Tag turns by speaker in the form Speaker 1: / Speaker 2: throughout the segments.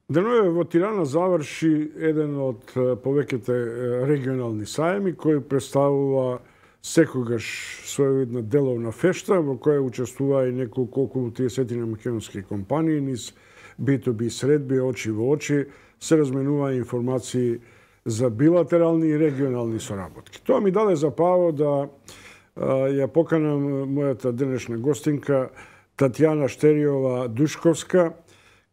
Speaker 1: Денове во Тирана заврши еден од повеќите регионални сајми кој представува секогаш своевидна деловна фешта во која учествува и неколку околу 30 македонски компании низ B2B средби очи во очи се разменува информации за билатерални и регионални соработки. Тоа ми даде за право да ја поканам мојата денешна гостинка Татјана Штериова Душковска,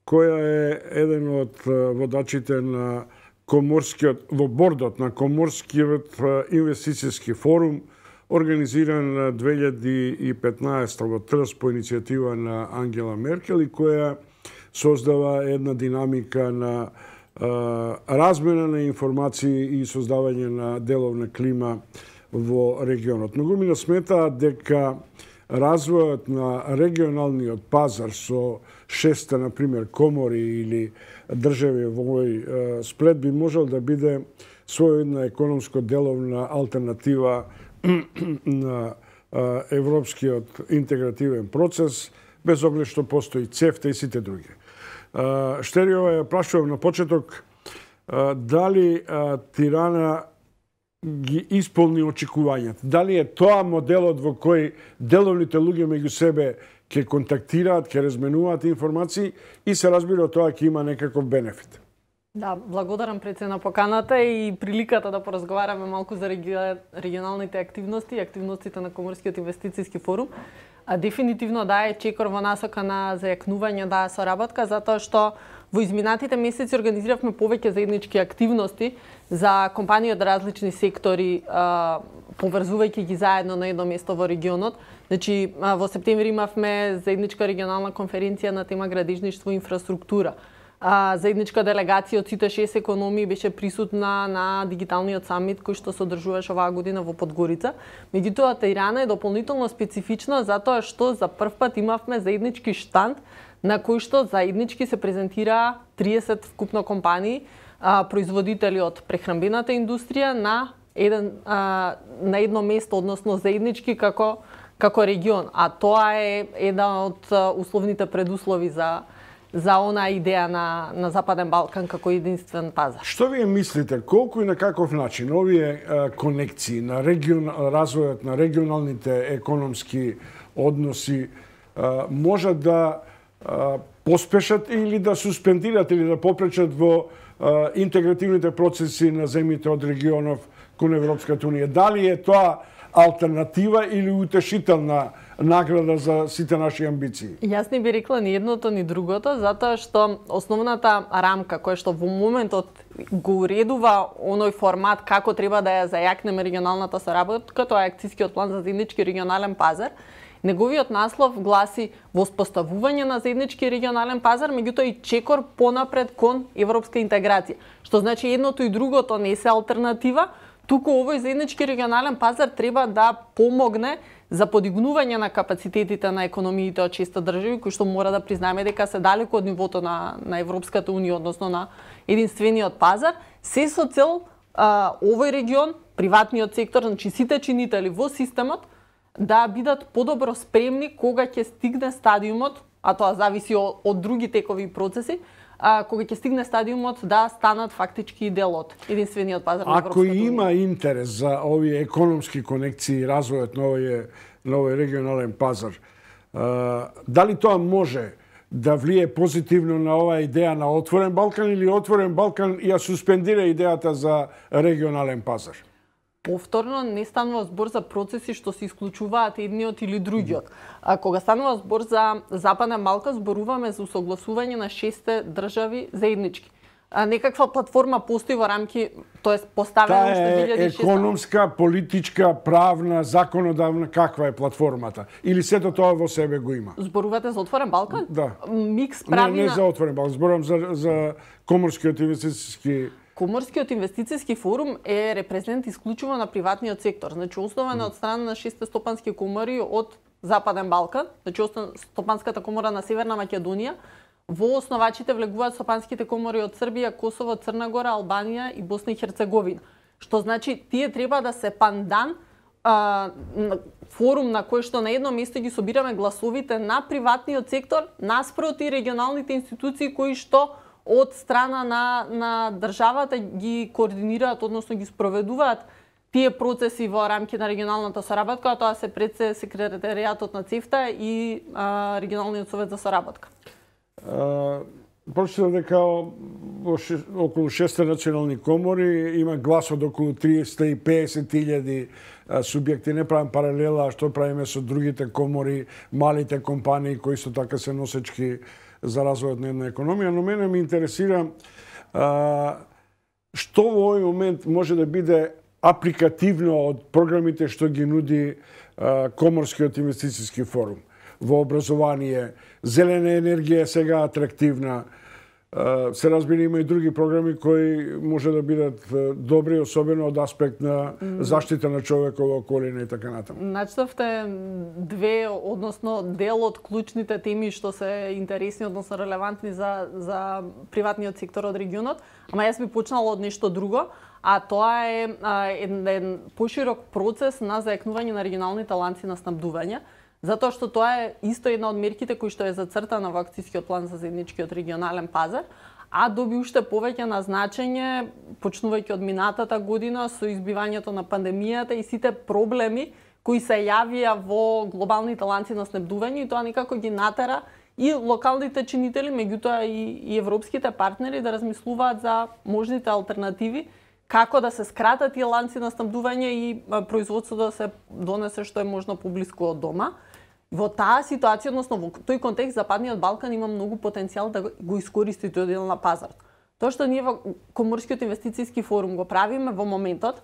Speaker 1: која е еден од водачите на во бордот на Коморскиот инвестицијски форум, организиран 2015 во Трст по иницијатива на Ангела Меркел и која создава една динамика на размена на информации и создавање на деловна клима во регионот. Многумина сметаат дека развојот на регионалниот пазар со 6 например, комори или држави во овој сплет би можел да биде своједна економско-деловна алтернатива на европскиот интегративен процес, без оглед што постои ЦЕФТА и сите други. Штериова ја прашувам на почеток дали Тирана ги исполни очекувањата. Дали е тоа моделот во кој деловните луѓе меѓу себе ќе контактираат, ќе разменуваат информации и се разбира тоа ќе има некаков бенефит.
Speaker 2: Да, благодарам пред се на поканата и приликата да поразговараме малку за регионалните активности и активностите на Коморскиот инвестицијски форум. Дефинитивно да е чекор во насока на зајакнување да соработка, затоа што во изминатите месеци организиравме повеќе заеднички активности за компании од различни сектори, поврзувајќи ги заедно на едно место во регионот. Значи, во септември имавме заедничка регионална конференција на тема градежништво и инфраструктура. Заедничка делегација од сите 6 економии беше присутна на дигиталниот самит кој што се одржуваше оваа година во Подгорица. Меѓутоа, Тирана е дополнително специфична затоа што за прв пат имавме заеднички штанд на кој што заеднички се презентираа 30 вкупно компании, производители од прехранбената индустрија на едно место, односно заеднички како регион. А тоа е една од условните предуслови за она идеја на Западен Балкан како единствен пазар.
Speaker 1: Што вие мислите, колку и на каков начин овие конекции на развојот на регионалните економски односи можат да поспешат или да суспендират или да попречат во интегративните процеси на земјите од регионов кон Европската унија? Дали е тоа алтернатива или утешителна награда за сите наши амбиции?
Speaker 2: Јас не би рекла ни едното ни другото, затоа што основната рамка која што во моментот го уредува оној формат како треба да ја зајакнеме регионалната соработка, тоа е акцијскиот план за заеднички регионален пазар. Неговиот наслов гласи воспоставување на заеднички регионален пазар, меѓутоа и чекор понапред кон европска интеграција. Што значи едното и другото не се алтернатива, туку овој заеднички регионален пазар треба да помогне за подигнување на капацитетите на економиите од 6 држави, кои што мора да признаеме дека се далеко од нивото на Европската унија, односно на единствениот пазар, се со цел овој регион, приватниот сектор, значи сите чинители во системот, да бидат подобро спремни кога ќе стигне стадиумот, а тоа зависи од други текови процеси, кога ќе стигне стадиумот да станат фактички дел од единствениот пазар на Европската унија.
Speaker 1: Ако има интерес за овие економски конекции и развојот на овој регионален пазар, дали тоа може да влие позитивно на оваа идеја на отворен Балкан или отворен Балкан ја суспендира идејата за регионален пазар?
Speaker 2: Повторно не станува збор за процеси што се исклучуваат едниот или другиот. Кога станува збор за Западен Балкан, зборуваме за усогласување на 6 држави заеднички. Некаква платформа постои во рамки, тоест поставена уште 2006.
Speaker 1: Економска, политичка, правна, законодавна, каква е платформата? Или сето тоа во себе го има?
Speaker 2: Зборувате за отворен Балкан?
Speaker 1: Да.
Speaker 2: Микс правина.
Speaker 1: Не за отворен Балкан, зборувам за Коморскиот инвестицијски.
Speaker 2: Коморскиот инвестицијски форум е репрезент исклучиво на приватниот сектор. Значи, основен од страна на 6 стопански комори од Западен Балкан, значи Стопанската комора на Северна Македонија. Во основачите влегуваат стопанските комори од Србија, Косово, Црна Гора, Албанија и Босна и Херцеговина. Што значи, тие треба да се пандан форум на кој што на едно место ги собираме гласовите на приватниот сектор наспроти регионалните институции кои што од страна на државата ги координираат, односно ги спроведуваат тие процеси во рамки на регионалната соработка, тоа се пред се секретаријатот на ЦЕФТА и регионалниот совет за соработка.
Speaker 1: Прочитав дека околу 6 национални комори има глас од околу 350.000 субјекти. Не правам паралела што правиме со другите комори, малите компании кои исто така се носечки за развојот на една економија, но мене ме интересира што во овој момент може да биде апликативно од програмите што ги нуди Коморскиот инвестицијски форум. Во образование, зелена енергија е сега атрактивна. Се разбира, има и други програми кои може да бидат добри, особено од аспект на заштита на човекова околина и така натаму.
Speaker 2: Начнавте две, односно дел од клучните теми што се интересни, односно релевантни за приватниот сектор од регионот, ама јас би почнала од нешто друго, а тоа е еден поширок процес на зајакнување на регионалните ланци на снабдување, затоа што тоа е исто една од мерките кои што е зацртана во акцијскиот план за заедничкиот регионален пазар, а доби уште повеќе на значење почнувајќи од минатата година со избивањето на пандемијата и сите проблеми кои се јавија во глобалните ланци на снабдување, и тоа некако ги натера и локалните чинители, меѓутоа и европските партнери да размислуваат за можните алтернативи како да се скратат тие ланци на снабдување и производството да се донесе што е можно поблиску од дома. Во таа ситуација, односно во тој контекст, Западниот Балкан има многу потенцијал да го искористи тој дел на пазарот. Тоа што ние во Коморскиот инвестицијски форум го правиме во моментот,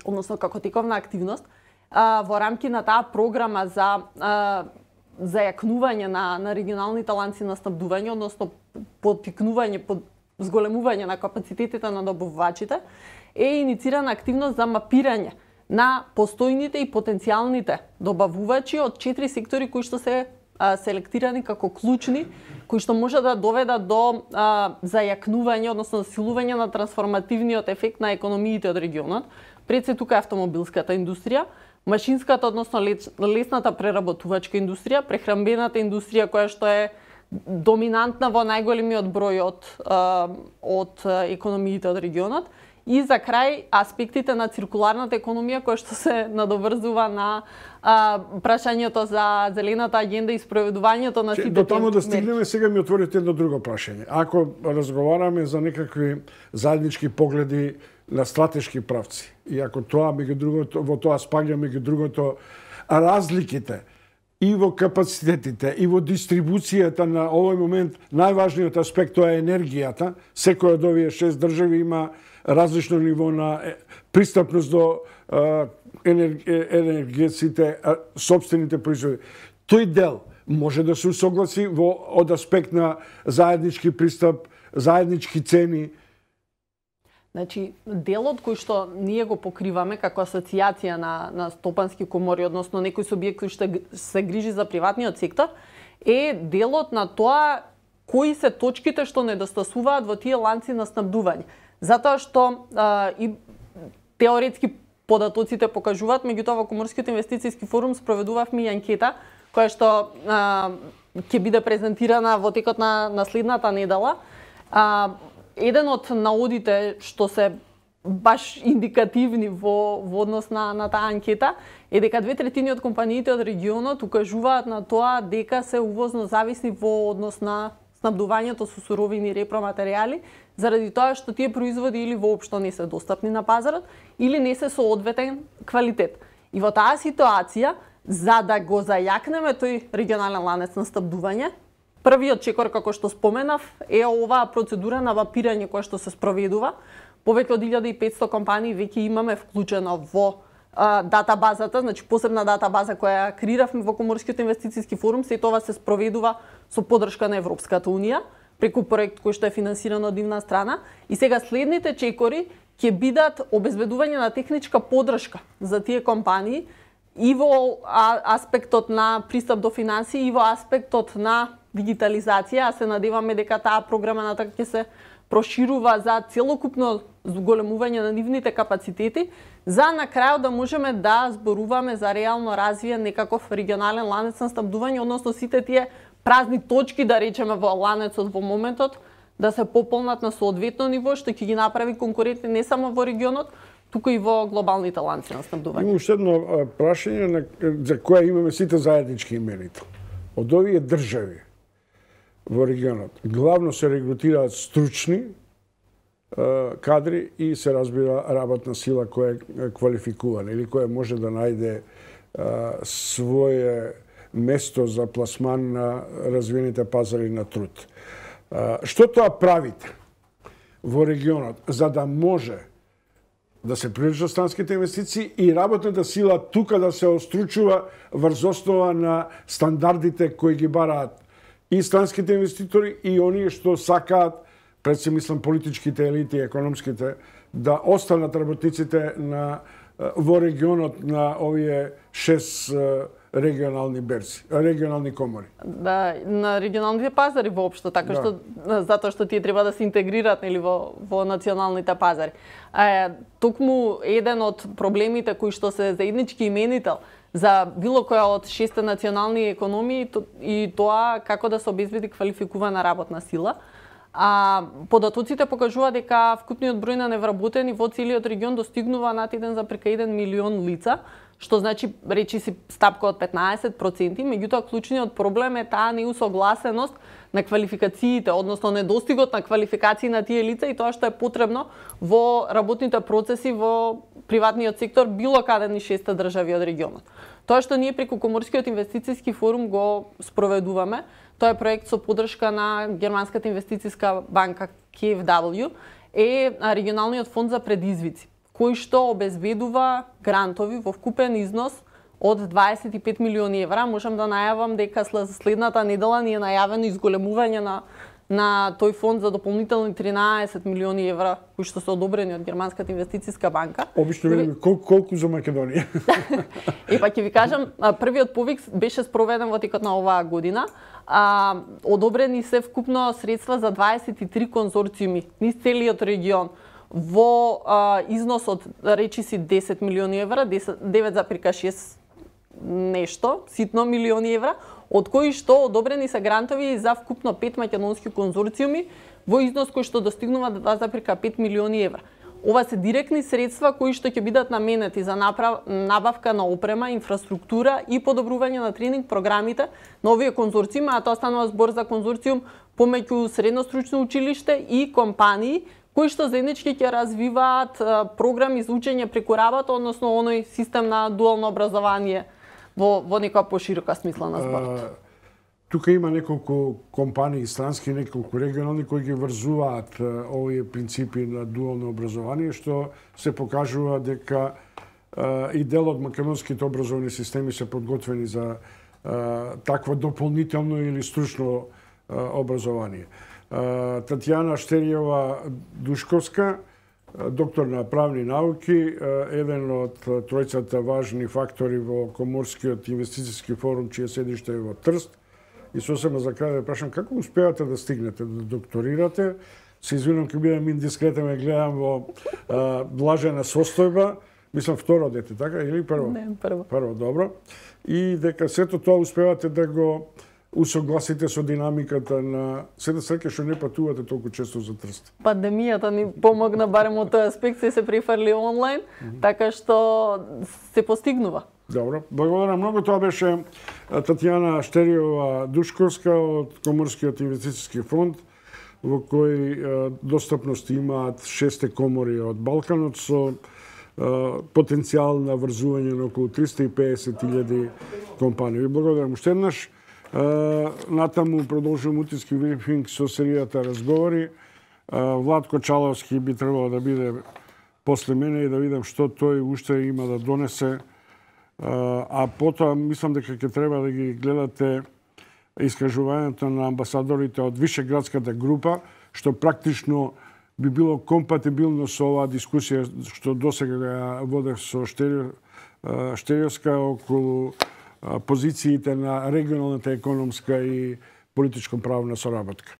Speaker 2: односно како тековна активност, во рамки на таа програма за зајакнување на регионалните ланци на снабдување, односно поттикнување, зголемување на капацитетите на добавувачите, е иницирана активност за мапирање на постојните и потенцијалните добавувачи од 4 сектори кои што се селектирани како клучни, кои што може да доведат до зајакнување, односно засилување на трансформативниот ефект на економиите од регионот. Пред се тука е автомобилската индустрија, машинската, односно лесната преработувачка индустрија, прехранбената индустрија која што е доминантна во најголемиот број од економиите од регионот, и за крај аспектите на циркуларната економија која што се надоврзува на прашањето за зелената агенда и спроведувањето на сите
Speaker 1: до таму да стигнеме. Сега ми отворите едно друго прашање. Ако разговараме за некакви заеднички погледи на стратешки правци, и ако тоа меѓу другото во тоа спаѓа меѓу другото разликите и во капацитетите, и во дистрибуцијата на овој момент, најважниот аспект тоа е енергијата. Секој од овие 6 држави има различно ниво на пристапност до енергетските сопствените производи. Тој дел може да се усогласи од аспект на заеднички пристап, заеднички цени.
Speaker 2: Значи, делот кој што ние го покриваме како асоцијација на стопански комори, односно некој субјект кој што се грижи за приватниот сектор, е делот на тоа кои се точките што недостасуваат во тие ланци на снабдување. Затоа што и теоретски податоците покажуваат, меѓутоа во Коморскиот инвестицијски форум спроведувавме и анкета која што ќе биде презентирана во текот на следната недела. Еден од наодите што се баш индикативни во однос на таа анкета е дека 2/3 од компаниите од регионот укажуваат на тоа дека се увозно зависни во однос на снабдувањето со суровини и репроматеријали, заради тоа што тие производи или воопшто не се достапни на пазарот, или не се со одветен квалитет. И во таа ситуација, за да го зајакнеме тој регионален ланец на снабдување, првиот чекор, како што споменав, е оваа процедура на мапирање која што се спроведува. Повеќе од 1500 компании веќе имаме вклучено во датабазата, значи посебна датабаза која креиравме во Коморскиот инвестицијски форум, се тоа се спроведува со поддршка на Европската унија, преку проект кој што е финансиран од нивна страна. И сега следните чекори ќе бидат обезбедување на техничка поддршка за тие компании и во аспектот на пристап до финансии и во аспектот на дигитализација. А се надеваме дека таа програма натака ќе се проширува за целокупно зголемување на нивните капацитети, за на крајот да можеме да зборуваме за реално развиен некаков регионален ланец на снабдување, односно сите тие празни точки, да речеме, во ланецот во моментот, да се пополнат на соодветно ниво, што ќе ги направи конкурентни не само во регионот, туку и во глобалните ланци на снабдување.
Speaker 1: Има уште едно прашање за кое имаме сите заеднички именител. Од овие држави во регионот главно се регрутираат стручни кадри и се разбира работна сила која е квалификувана или која може да најде свое место за пласман на развиените пазари на труд. Што тоа правите во регионот за да може да се привлечат странските инвестиции и работната сила тука да се остручува врз основа на стандардите кои ги бараат и странските инвеститори и оние што сакаат, пред се мислам политичките елити, економските, да останат работниците во регионот на овие 6 регионални берзи, регионални комори.
Speaker 2: Да, на регионалните пазари воопшто, така што затоа што тие треба да се интегрираат нели во националните пазари. Токму еден од проблемите кои што се заеднички именител за било која од 6 национални економии и тоа како да се обезбеди квалификувана работна сила. Податоците покажуваат дека вкупниот број на невработени во целиот регион достигнува над 1,1 милион лица, што значи речи си стапка од 15%, меѓутоа клучниот проблем е таа неусогласеност на квалификациите, односно недостигот на квалификации на тие лица и тоа што е потребно во работните процеси во приватниот сектор било каде ни 6 држави од регионот. Тоа што ние преку Коморскиот инвестициски форум го спроведуваме, тоа е проект со поддршка на Германската инвестициска банка KfW, е регионалниот фонд за предизвици, кој што обезбедува грантови во вкупен износ од 25 милиони евра. Можам да најавам дека следната недела ни е најавено изголемување на тој фонд за дополнителни 13 милиони евра, кои што се одобрени од Германската инвестициска банка.
Speaker 1: Обично видиме колку за Македонија.
Speaker 2: Па ќе ви кажам, првиот повик беше спроведен во текот на оваа година. Одобрени се вкупно средства за 23 конзорциуми низ целиот регион во износ од речи си 10 милиони евра, 9,6 нешто, ситно милиони евра, од кои што одобрени се грантови за вкупно 5 македонски конзорциуми во износ кој што достигнува 2,5 милиони евра. Ова се директни средства кои што ќе бидат наменети за набавка на опрема, инфраструктура и подобрување на тренинг програмите на овие конзорциуми, а тоа станува збор за конзорциум помеѓу средностручно училиште и компании кои што заеднички ќе развиваат програми за учење преку работа, односно оној систем на дуално образование во некоја поширока смисла на зборот.
Speaker 1: Тука има неколку компании странски, неколку регионални кои ги врзуваат овие принципи на дуално образование, што се покажува дека и дел од македонските образовни системи се подготвени за такво дополнително или стручно образование. Татјана Штериева Душковска, доктор на правни науки, еден од тројцата важни фактори во Коморскиот инвестициски форум, чие седиште е во Трст. И сосема за крај да прашам, како успеате да стигнете, да докторирате? Се извинувам, ќе бидам индискретен, ме гледам во блажена состојба. Мислам второ дете, така? Или прво?
Speaker 2: Не, прво.
Speaker 1: Прво, добро. И дека сето тоа успевате да го усогласите со динамиката на... Се да среќа што не патувате толку често за Трст.
Speaker 2: Пандемијата ни помогна барем од тој аспект, се префрли онлайн, така што се постигнува.
Speaker 1: Добро, благодарам многу. Тоа беше Татјана Штериева Душковска од Коморскиот инвестициски фонд, во кој достапност имаат 6 комори од Балканот со потенцијал на врзување на околу 350.000 компании. Благодарам уште еднаш. Натаму продолжувам утиски брифинг со серијата разговори. Владко Чаловски би требало да биде после мене и да видам што тој уште има да донесе. А потоа мислам дека ќе треба да ги гледате искажувањето на амбасадорите од Вишеградската група, што практично би било компатибилно со оваа дискусија што досега ја водев со Штериевска околу позициите на регионалната економска и политичко-правна соработка.